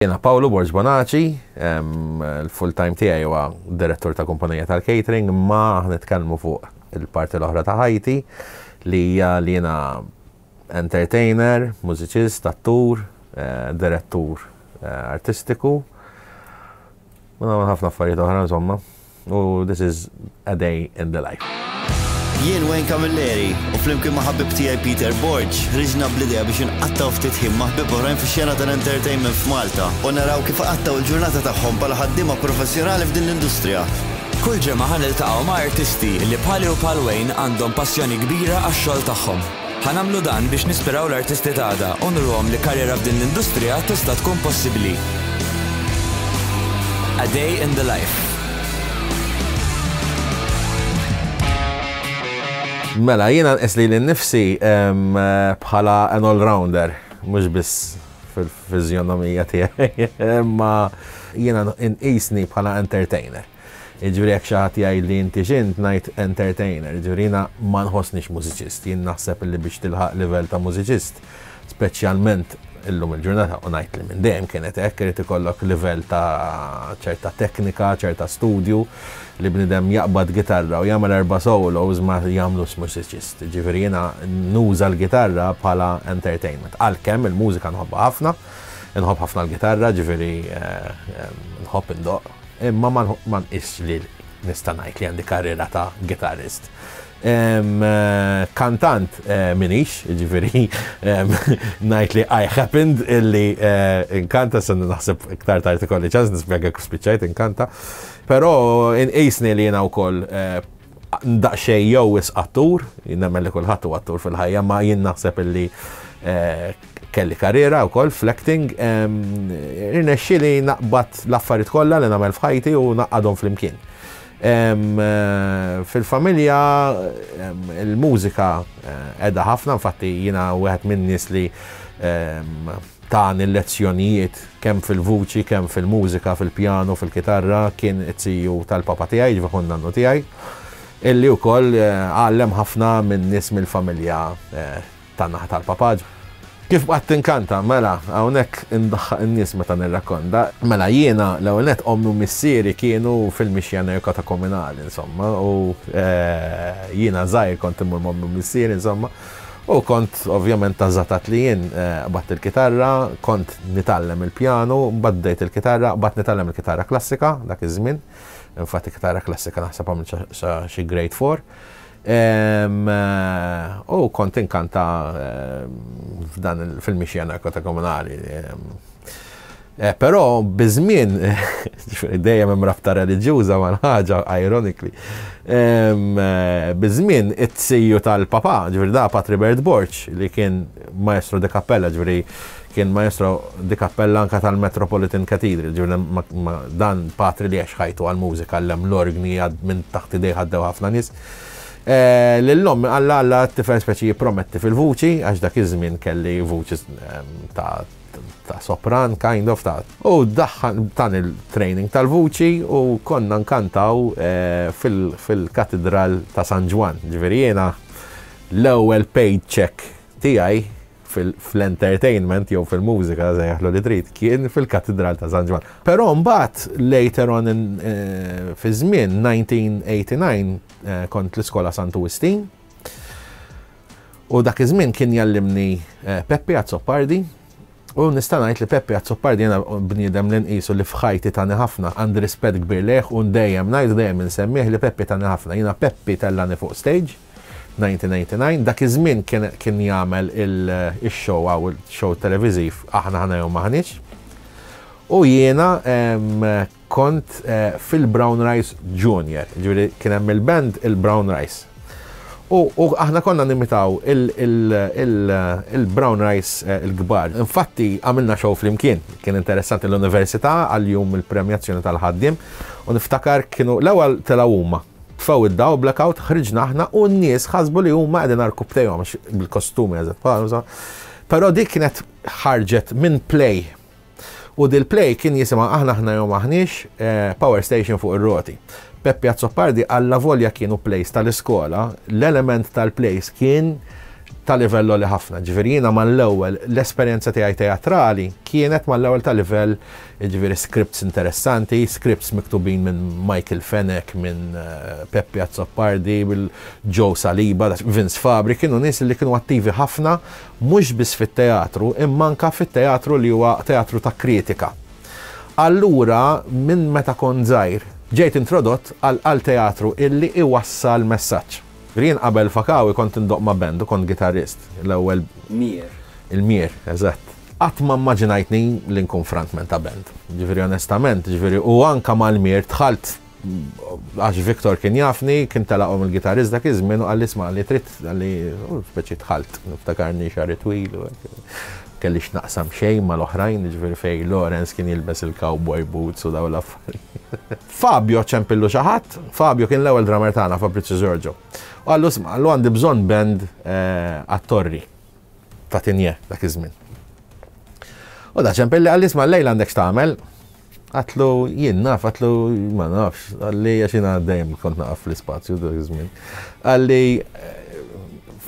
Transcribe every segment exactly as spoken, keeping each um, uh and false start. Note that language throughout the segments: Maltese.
Jena Paolo Borg Bonaci, il-full time tiegħi huwa direttur ta' kumpanija tal-catering, ma nitkellmu fuq il-parti l-oħra ta' ħajti li hija li jiena entertainer, mużiċist, attur, eh, direttur eh, artistiku. U nagħmel ħafna affarijiet oħra, insomma. U this is a day in the life. Jien Wayne Camilleri u flimkien ma' ħabib tiegħi Peter Borg ħriġna bl-idea biex nqattgħu ftit ħin ma' ħbieb oħrajn fix-xena tal-entertainment f'Malta u naraw kif qattgħu l-ġurnata tagħhom bħala ħaddiema professjonali f'din l-industrija. Kull ġimgħa ħa niltaqgħu ma' artisti li bħali u bħal Wayne għandhom passjoni kbira għax-xogħol tagħhom. Ħa nagħmlu dan biex nispiraw l-artisti t'għada u nuruhom li karriera f'din l-industrija tista' tkun possibbli. A Day in the Life. Mela, jiena nqis lili nnifsi bħala an all-rounder, mhux biss fil-fiżjonomija tiegħi, imma jiena nqisni bħala entertainer. Jiġifieri jekk xi ħadd jgħid li inti x'int, ngħid entertainer, jiġifieri jiena ma nħossnix mużiċist, jien naħseb li biex tilħaq livell ta' mużiċist, speċjalment illum il-ġurnata, u ngħid li minn dejjem kienet hekk, irid ikollok livell ta' ċerta teknika, ċerta studju, li bniedem jaqbad gitarra u jagħmel erba' solos ma jagħmlux mużiċist. Ġifieri jiena nuża l-gitarra bħala entertainment. Għalkemm il-mużika nħobbha ħafna, nħobb ħafna l-gitarra, ġifieri eh, eh, nħobb indoqq, imma ma nqisx li nista' ngħid li għandi karriera ta' gitarrist. Eh, kantant eh, minix, ġifieri ngħid li I happened illi eh, inkanta, se naħseb iktar tard ikolli ċans nispjega kif spiċċajt inkanta. Però inqisni li jiena wkoll daqsxejn jew wisq attur, nemmen li kulħadd huwa attur fil-ħajja, ma jien naħseb illi kelli karriera wkoll fl-acting, irnexxieli naqbad l-affarijiet kollha li nagħmel f'ħajti u naqadhom flimkien. Fil-familja il-mużika qiegħda ħafna, infatti jiena wieħed minn nies li tani lezzjonijiet kemm fil-vuċi, kemm fil-mużika, fil-pjano, fil-kitarra, kien it-tiju tal-papa tiegħi, ġifieri nannu tiegħi, illi wkoll għallem ħafna minn nies mill-familja tan-naħa tal-papa. Kif bqajt tinkanta? Mela, hawnhekk indaħħaq in-nies meta nirrakkonta. Mela jiena l-ewwel nett ommi u missieri kienu fil-mixja neokatakomunali, insomma, u eh, jiena żgħir kont immur m'ommi u missieri, insomma, u kont ovvjament ta' żatat li jien eh, qbadt il-kitarra, kont nitgħallem il-pjanu, mbagħad bdejt il-kitarra, qbadt nitgħallem il-kitarra klassika dak iż-żmien. Infatti kitarra klassika naħseb għamilt xi grade four. Eh, u kont inkanta f'dan fil-mixja komunali. Eh, però biż-żmien, dejjem hemm rabta reliġjuża ma' ħaġa, ironically. Eh, biż-żmien it-tiju tal-papa, ġifieri da Patri Bert Borg, li kien maestro de cappella, ġifieri kien maestro di cappella anka tal-Metropolitan Cathedral, ġifieri dan patri li għex ħajtu għal-mużika, għallem l-orgni, minn taħt idejh għaddew ħafna nies. Eh, Lil-omm qalha alla t-tifel speċi jipprometti fil-vuċi, għax dak iż-żmien kelli vuċi ta' ta' sopran, kind of ta' u daħħal tan il-training tal-vuċi u konna nkantaw eh, fil-katedral ta' San Ġwann. Ġifieri jiena l-ewwel paid check tiegħi fil-entertainment jew fil-mużika, sejjaħlu li trid, kien fil-katedral ta' San Ġwann. Però mbagħad later on eh, fi żmien elf disa' mija u disgħa u disgħin eh, kont l-iskola Santu Wistin. U dak iż-żmien kien jallimni Peppi Azzopardi. U nista' ngħid li Peppi Azzopardi jiena bniedem li nqisu li f'ħajti tani ħafna, għandi rispett kbir lejh u dejjem ngħid, dejjem insemmih li Peppi tani ħafna. Jiena Peppi tellani fuq stage elf disa' mija u disgħa u disgħin, dak iż-żmien kien jagħmel il-show għaw il-show televiżiv Aħna Aħna Jew M'Aħniex. U jiena kont eh, fil-Brown Rice Junior, ġifieri kien hemm il-band il-Brown Rice. U aħna konna nimitaw il-Brown Rice eh, il-kbar. Infatti għamilna show flimkien, kien interessanti, l-università għal-jum il-premjazzjoni tal-ħaddiem u niftakar kienu l-ewwel telgħu huma. Tfew id-dawl, blackout, ħriġna aħna u n-nies ħasbu li huma qegħdin għarkupptejhom bil-kostumi eżatt. Però dik kienet ħarġet minn play. U dil-play kien jisimha Aħna Aħna Jew M'Aħniex, eh, Power Station fuq ir-roti. Peppi Azzopardi, alla volja kienu plays tal-iskola, l-element tal-plays kien Ta' livell li ħafna. Ġifieri jiena mal-ewwel l-esperjenza tiegħi teatrali kienet mal-ewwel ta' livell, ġifieri scripts interessanti, scripts miktubin minn Michael Fenech, minn eh, Peppi Azzopardi, bil Joe Saliba, Vince Fabri, kienu nies li kienu attivi ħafna mhux biss fit-teatru, imma anka fit-teatru li huwa teatru ta' kritika. Allura, minn meta kont żgħir, ġejt introdott għal teatru illi iwassal messaġġ. Jien qabel Fakawi kont indoqq ma' band u kont gitarrist. L-ewwel Mier. Il-Mier, eżatt. Qatt ma immaġinajtni li nkun frontman ta' band. Ġifieri onestament, ġifieri u anka mal-Mier dħalt għax Victor kien jafni, kien telaqhom il-gitarrist dak iż-żmien u qalli, "Isma'," li trid, qalli, u speċi dħalt, niftakarni xagħri twil u hekk. Kelli x'naqsam xejn mal-oħrajn, ġifieri fej Lawrence kien jilbes il-cowboy boots u daw l-affarijiet. Fabio ċempillu xi ħadd, Fabio kien l-ewwel drummer tagħna, Fabrizio Giorgio. U qallu, "Isma'," qallu, "għandi bżonn band eh, għat-torri ta' Tigné dak iż-żmien." U da ċempilli, qalli, "Isma', lejla għandek x'tagħmel?" Għedtlu, "Jien naf," għedtlu, "ma nafx," qalli, għax jiena dejjem kont naqaf fl-ispazju dak iż-żmien. Qalli,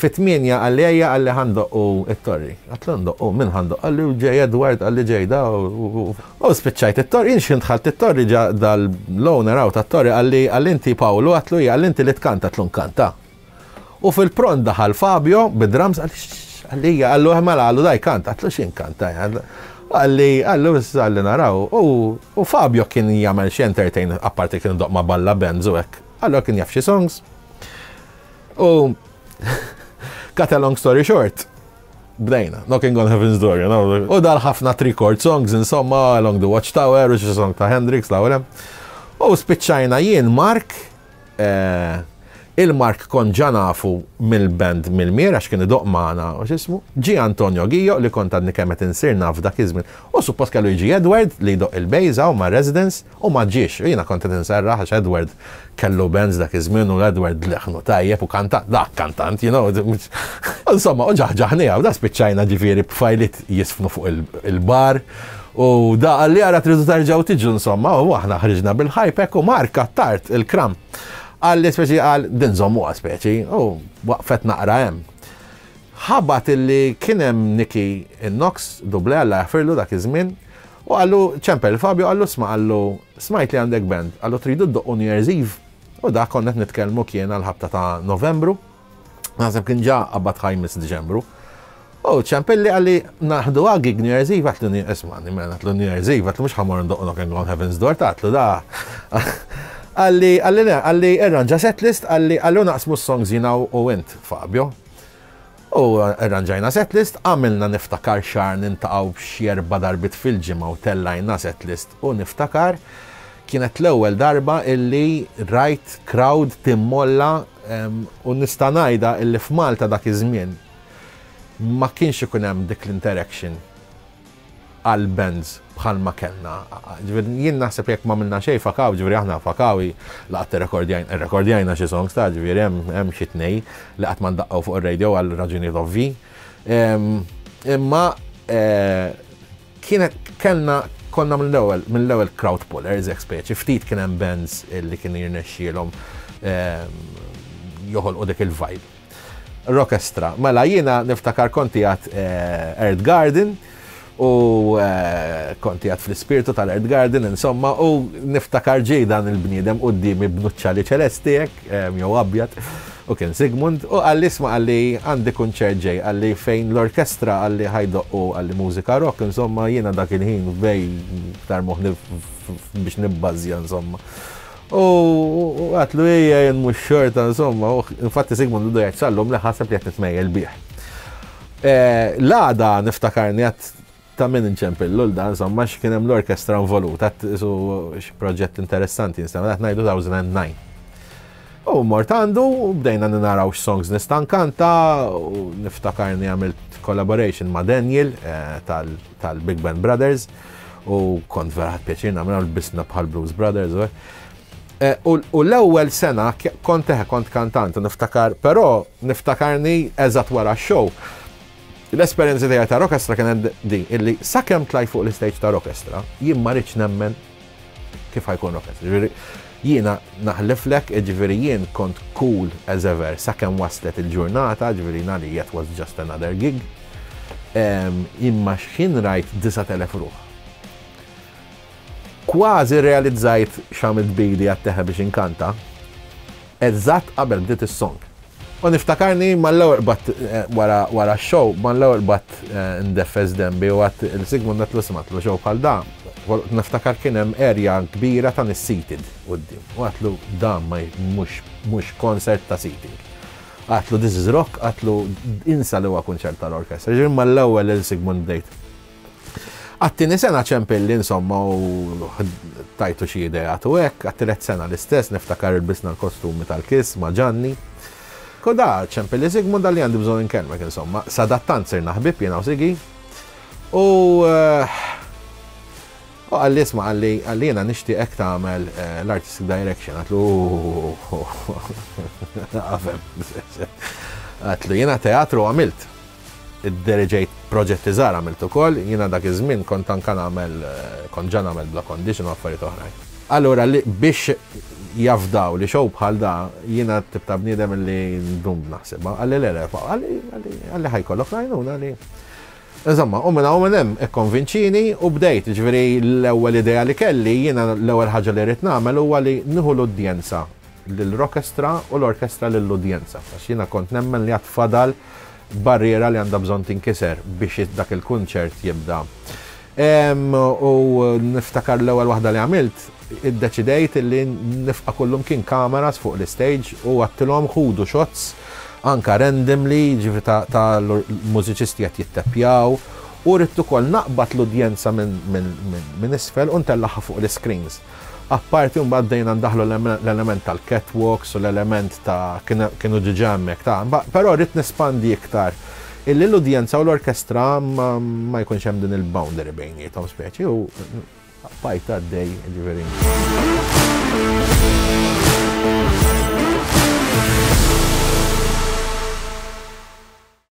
"Fit-tmienja," qalli, "ejja," qalli, "ħa ndoqqu it-torri." Għedtlu, "Ndoqqu, min ħa ndoqq?" Qalli, "Ġej Edward," qalli, "ġej da." U u spiċċajt it-torri, jien x'ħin dħalt it-torri ġa dal-owner hawn tat-torri qalli, qalli, "Inti Paolo?" Għedtlu, "Ija." Qalli, "Inti li tkanta?" Għedtlu, "Nkanta." U fil-pront daħal Fabio bid-drums, qalli, qalli, qallu, "Mela," qallu, "da jkanta." Għedtlu, "X'inkanta?" Qalli, qallu, "Qalli naraw." U u Fabio kien jagħmel xi entertain, apparti kien doqq ma' balla bands u hekk. Allura kien jaf xi songs. U cut a long story short, bdejna, Knocking on Heaven's Door, you know. U dal ħafna three chord songs, insomma, Along the Watchtower, u xi song ta' Hendrix, l U spiċċajna jien Mark, eh, il-Mark kont ġa nafu mill-band mill-Mir, għax kien idoqq magħna u x'ismu, ġi Antonio Gio li kont għadni kemm qed insir naf dak iż-żmien. U suppost kellu jiġi Edward li jdoqq il-bass u ma' Residence u ma ġiex. U jiena kont qed inserraħ għax Edward kellu bands dak iż-żmien u Edward leħnu tajjeb u kanta, dak kantant, you know. Insomma, u ġaħġaħni da spiċċajna ġifieri b'fajlit jisfnu fuq il- il-bar. U da qalli, "Ara tridu tarġaw tiġu," insomma, u aħna ħriġna bil-ħajpek u Mark Attard il-kram. Qalli speċi qal din żommuha speċi, u waqfet naqra hemm. Ħabat illi kien hemm Nicky Knox, duble Alla jaħfirlu dak iż-żmien, u qallu ċempel Fabio, qallu, "Isma'," qallu, "smajt li għandek band," qallu, "tridu ddoqqu New Year's Eve?" U da konna qed nitkellmu kien għal-ħabta ta' Novembru, naħseb kien ġa qabad ħajmis Diċembru. U ċempilli, qalli, "Naħdu gig New Year's Eve?" Għedtlu, "Isma', mela," għedtlu, "New Year's Eve," għedtlu, "mhux ħa mmur ndoqq Knocking on Heaven's Door," għedtlu da. Qalli, qalli, le, qalli, "Irranġa setlist," qalli, qallu, "naqsmu songs jiena u int, Fabio." U irranġajna setlist, għamilna niftakar xahar niltaqgħu xi erba' darbiet fil-ġimgħa u tellajna setlist u niftakar kienet l-ewwel darba illi rajt crowd timmolla em, u nista' ngħidha illi f'Malta dak iż-żmien ma kienx ikun hemm dik l-interaction għal bands bħalma kellna. Ġifieri jien naħseb jekk ma minna xejn Fakawi, ġifieri aħna Fakawi laqat irrekordjajna irrekordjajna xi songs ta' ġifieri hemm hemm xi tnej li qatt ma ndaqqaw fuq ir-radio għal raġunijiet ovvi. Em, Imma eh, kienet kellna konna mill-ewwel mill-ewwel crowd pullers hekk speċi, ftit kien hemm bands li kienu jirnexxielhom em, joħolqu dik il-vibe. Rockestra. Mela jiena niftakar konti għat Earth Garden u eh, konti għat fl-ispirtu tal-Earth Garden, insomma, u niftakar ġej dan il-bniedem u d-dimi b'nuċċali ċelesti hekk, em, jew abjad, u kien Sigmund, u qalli, "Isma'," qalli, "għandi kunċert ġej," qalli, "fejn l-orkestra," qalli, "ħa jdoqqu," qalli, "mużika rock." Insomma, jiena dak il-ħin bej iktar moħni biex nibbażja, insomma. U u għedtlu, "Ejja, jien mhux xorta," insomma, u infatti Sigmund għadu jgħid sal-lum li ħaseb li qed nitmejjel bih. Eh, L-għada niftakarni għedt ta' min inċempillu l-da, insomma, x'kien hemm l-orkestra involuta, su proġett interessanti, insomma, qed ngħidu elfejn u disgħa. U mort għandu, u bdejna naraw x'songs nista' nkanta, u niftakarni għamilt collaboration ma' Daniel eh, tal- tal-Big Band Brothers, u kont vera ħadt pjaċir nagħmilha, lbisna bħal Blues Brothers. U Eh, U u l-ewwel sena k- kont eħe kont kantant u niftakar, però niftakarni eżatt wara x-show. L-esperjenza tiegħi ta' orkestra kienet di, illi sakemm tlajt fuq l-istage ta' orkestra, jien ma rridx nemmen Kif ħa jkun orkestra? Ġifieri, jiena naħliflek, ġifieri jien kont cool as ever, sakemm waslet il-ġurnata, ġifieri nali it was just another gig. Imma xħin rajt disat elef ruħ. Kważi realizzajt x'għamilt bili għat-teħe biex inkanta, eżatt qabel bdiet is-song. U niftakarni mal-ewwel bat eh, wara wara show, mal-ewwel bat eh, ndeffes dembi u għedt lil Sigmund, għedtlu, "Isma'," show bħal da. Niftakar kien hemm area kbira ta' seated quddiem. U għedtlu, "Dan ma mhux mhux concert ta' seating." Għedtlu, "This is rock," għedtlu, "insa li huwa kunċert tal-orkestra." Ġifieri mal-ewwel lil Sigmund bdejt. Għat-tieni sena ċempilli insomma u tajtu xi idea u hekk, għat-tielet sena l-istess, niftakar ilbisna l-kostumi tal-Kiss ma' Ġanni. Koda ċempilli Sigmund, qalli, "Għandi bżonn inkellmek," insomma. Sadattant sirna ħbib jiena u Sigi. U eh, u qalli, "Isma'," qalli, qalli "jiena nixtieqek tagħmel eh, l-artistic direction." Għedtlu, "Għafem." Għedtlu, "Jiena teatru għamilt. Idderiġejt proġetti żgħar għamilt ukoll, jiena dak iż-żmien kont anka nagħmel eh, kont ġa nagħmel Bla Condition u affarijiet oħrajn." Allura li biex jafdaw li show bħal da, jiena tip ta' bniedem li ndum naħseb. Qalli, "Le, le," qalli, qalli "ħa jkollok l-għajnuna li." Insomma, u minna u minn hemm ikkonvinċini u bdejt, ġifieri l-ewwel idea li kelli, jiena l-ewwel ħaġa li rrid nagħmel huwa li nieħu l-udjenza lill-orkestra u l-orkestra lill-udjenza. Għax jiena kont nemmen li għad fadal barriera li għandha bżonn tinkiser biex dak il-kunċert jibda. U niftakar l-ewwel waħda li għamilt, iddeċidejt li nifqa kullum kien kameras fuq l-stage u għedtilhom, "Ħudu shots anka randomly, ġifieri ta', ta mużiċisti qed jitteppjaw," u rrid ukoll naqbad l-udjenza minn min, min, min isfel u ntellagħha fuq l-screens. Apparti mbagħad bdejna ndaħlu l-element tal-catwalks u l-element ta' kienu ġiġa hemmhekk ta' però rrid nespandi iktar illi l-udjenza u l-orkestra ma, ma jkunx hemm din il-boundary bejniethom speċi u bqajt għaddej, ġifieri.